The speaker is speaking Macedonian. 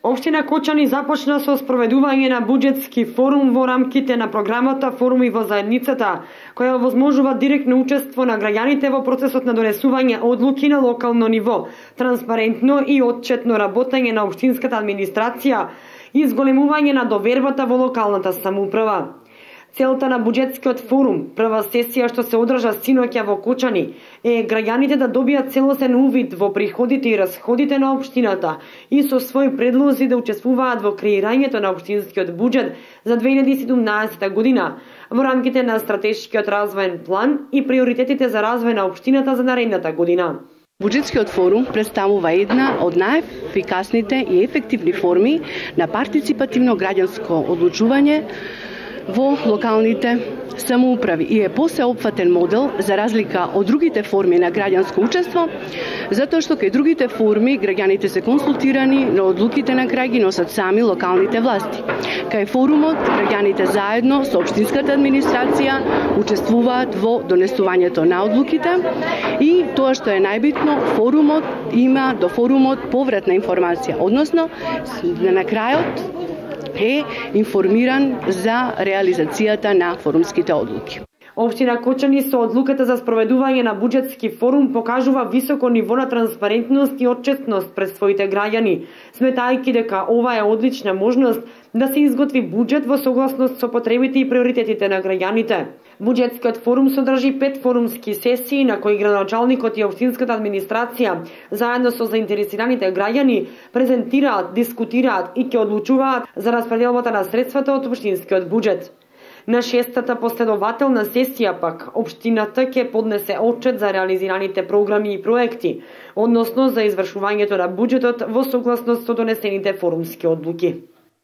Општина Кочани започна со спроведување на буџетски форум во рамките на програмата Форуми во заедницата, која овозможува директно учество на граѓаните во процесот на донесување одлуки на локално ниво, транспарентно и отчетно работење на општинската администрација и зголемување на довербата во локалната самоуправа. Целта на буџетскиот форум, прва сесија што се одржа синоќа во Кочани, е граѓаните да добијат целосен увид во приходите и расходите на општината и со своји предлози да учествуваат во креирањето на општинскиот буџет за 2017 година во рамките на стратешкиот развоен план и приоритетите за развој на општината за наредната година. Буџетскиот форум представува една од најефикасните и ефективни форми на партиципативно граѓанско одлучување во локалните самоуправи и е посеопфатен модел за разлика од другите форми на граѓанско учество, затоа што кај другите форми граѓаните се консултирани, но одлуките на крај ги носат сами локалните власти. Кај форумот граѓаните заедно со општинската администрација учествуваат во донесувањето на одлуките и тоа што е најбитно, форумот има до форумот повратна информација, односно на крајот е информиран за реализацијата на форумските одлуки. Општина Кочани со одлуката за спроведување на буџетски форум покажува високо ниво на транспарентност и отчетност пред своите граѓани, сметајќи дека ова е одлична можност да се изготви буџет во согласност со потребите и приоритетите на граѓаните. Буџетскиот форум содржи 5 форумски сесии на кои градоначалникот и општинската администрација заедно со заинтересираните граѓани презентираат, дискутираат и ќе одлучуваат за распределбата на средствата од општинскиот буџет. На 6-та последователна сесија пак, општината ќе поднесе отчет за реализираните програми и проекти, односно за извршувањето на буџетот во согласност со донесените форумски одлуки.